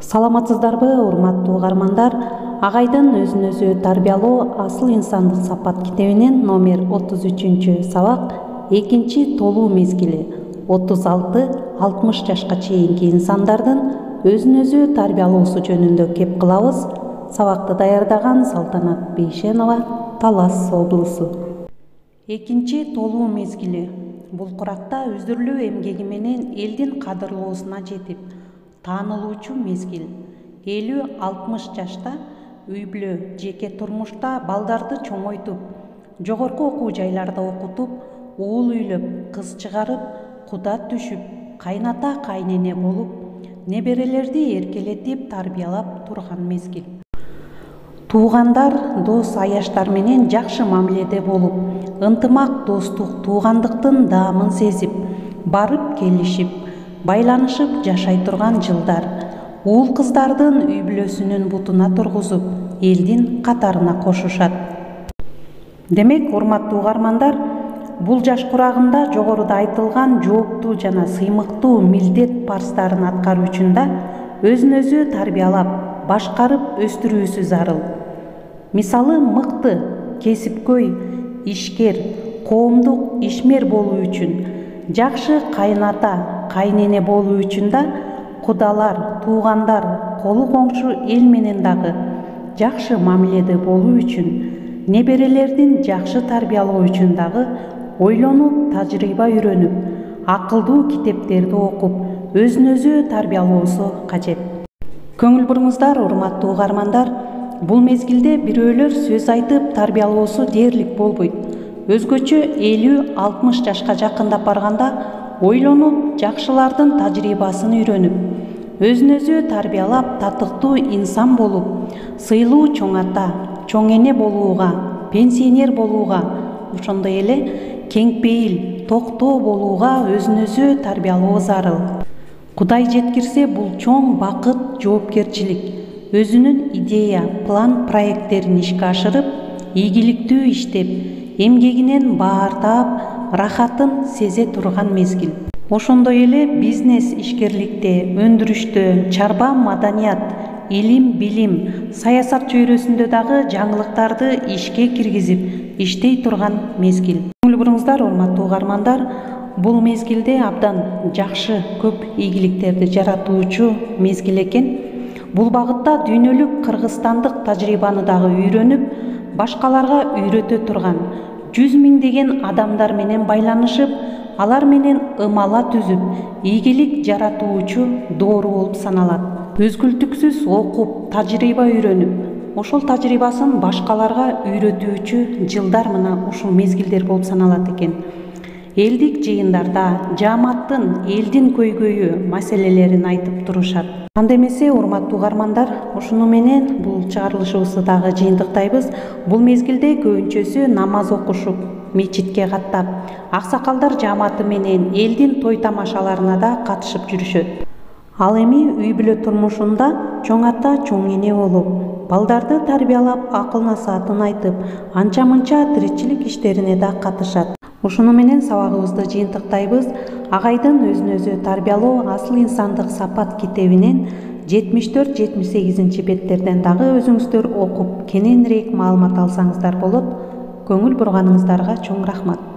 Саламатсыздарбы, урматтуу угармандар? Агайдын өзүн өзү тарбиялоо асыл инсандык сапат китебинен номер 33 сабак 2 толуу мезгили 36-60 жашка чейинки инсандардын өзүн өзү тарбиялоосу жөнүндө кеп кылабыз. Сабакты даярдаган Салтанат Бейшенова, Талас облусу. 2 толуу мезгили бул куракта үзүрлүү эмгеги менен элдин кадырлоосуна жетип таанылуучу мезгил. 50-60 жашта үй-бүлө, жеке турмушта балдарды чоңойтуп, жогорку окуу жайларда окутуп, уул үйлөп, кыз чыгарып, куда түшүп, кайната кайнене болуп, неберелерди эркелетип тарбиялап турган мезгил. Туугандар, дос аяштар менен жакшы мамиледе болуп, ынтымак, достук, туугандыктын даамын сезип, барып келишип, байланышып жашай турган жылдар. Уул кыздардын үй-бүлөсүнүн бутуна тургузуп, элдин катарына кошушат. Демек, урматтуу угармандар, бул жаш курагында жогоруда айтылган жооптуу жана сыймыктуу милдет парстарын аткаруу үчүн да өзүн өзү тарбиялап, башкарып өстүрүүсү зарыл. Мисалы, мыкты, кесипкөй, ишкер, коомдук ишмер болуу үчүн, жакшы кайната, кайнене болуу үчүн да кудалар, туугандар, колу коңшу эл менен дагы жакшы мамиледе болуу үчүн, неберелердин жакшы тарбиялоо үчүн дагы ойлонуп, тажрыйба үйрөнүп, акылдуу китептерди окуп, өзүн өзү тарбиялоосу кажет. Көңүл буруңуздар, урматтуу угармандар, бул мезгилде бирөөлөр сөз айтып тарбиялоосу дээрлик болбойт. Өзгөчө 50-60 жашка жакындап барганда ойлонуп, жакшылардын тажрыйбасын үйрөнүп, өзүн өзү тарбиялап, татыктуу инсан болуп, сыйлуу чоң ата, чоң эне болууга, пенсионер болууга, ошондой эле кеңпейил, токтоо болууга өзүн өзү тарбиялоо зарыл. Кудай жеткирсе, бул чоң бакыт, жоопкерчилик. Өзүнүн идея, план, проекттерин ишке ашырып, ийгиликтүү иштеп, эмгегинен баар таап, рахатын сезе турган мезгил. Ошондой эле бизнес ишкерликте, өндүрүштө, чарба маданият, илим, билим, саясат чөйрөсүндө дагы жаңылыктарды ишке киргизип, иштей турган мезгил. Көңүл буруңуздар, урматтуу угармандар, бул мезгилде абдан жакшы, көп ийгиликтерди жаратуучу мезгил экен. Бул багытта дүйнөлүк кыргызстандык тажрыйбаны дагы үйрөнүп, башкаларга үйрөтө турган, 100 миңдеген адамдар менен байланышып, алар менен ымала түзүп, ийгилик жаратуучу доору болуп саналат. Өзгүлтүксүз окуп, тажрыйба үйрөнүп, ошол тажрыйбасын башкаларга үйрөтүүчү жылдар мына ушул мезгилдер болуп саналат экен. Элдик жыйындарда жааматтын, элдин көйгөйү маселелерин айтып турушат. Анда эмесе, урматтуу угармандар, ушуну менен бул чыгарылышыбызды дагы жыйынтыктайбыз. Бул мезгилде көбүнчөсү намаз окушуп, мечитке каттап, аксакалдар жааматы менен элдин той тамашаларына да катышып жүрүшөт. Ал эми үй-бүлө турмушунда чоң ата, чоң эне болуп, балдарды тарбиялап, акыл-насаатын айтып, анча-мынча тиричилик иштерине да катышат. Ушуну менен сабагыбызды жыйынтыктайбыз. Агайдын өзүн өзү тарбиялоо асыл инсандык сапат китебинен 74-78 беттерден дагы өзүңүздөр окуп, кененирээк маалымат алсаңыздар болот. Көңүл бурганыңыздарга чоң рахмат.